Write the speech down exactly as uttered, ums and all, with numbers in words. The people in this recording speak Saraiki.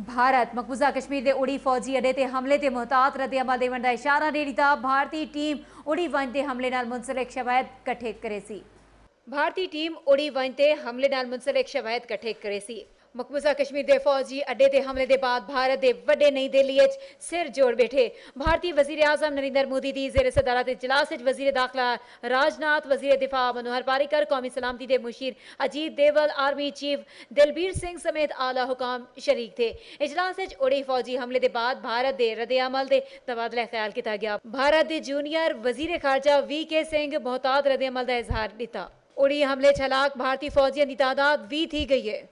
بھارت مقبوضہ کشمیر دے اڑی فوجی اڈے تے حملے تے محتاط رد عمل ڈیونڑ دا اشارہ ڈے ڈتا، بھارتی ٹیم اڑی ونج دے حملے نال منسلک شواہد کٹھے کریسی۔ بھارتی ٹیم اڑی ونج تے حملے نال منسلک شواہد کٹھے کریسی۔ مقبوضہ کشمیر دے فوجی اڈے تے حملے دے بعد بھارت دے وڈے نئی دہلی اچ سر جوڑ بیٹھے۔ بھارتی وزیر اعظم نریندر مودی دی زیر صدارت اجلاس اچ وزیر داخلہ راج ناتھ، وزیر دفاع منوہر پاریکر، قومی سلامتی دے مشیر اجیت ڈوبھل، آرمی چیف دلبیر سنگھ سمیت اعلی حکام شریک تھے۔ اجلاس اچ اڑی فوجی حملے دے بعد بھارت دے رد عمل تے تبادلہ خیال کیتا گیا۔ بھارت دے جونیئر وزیر خارجہ وی کے سنگھ محتاط رد عمل دا اظہار ڈتا۔ اڑی حملے اچ ہلاک بھارتی فوجیاں دی تعداد ویہہ تھی گئی ہے۔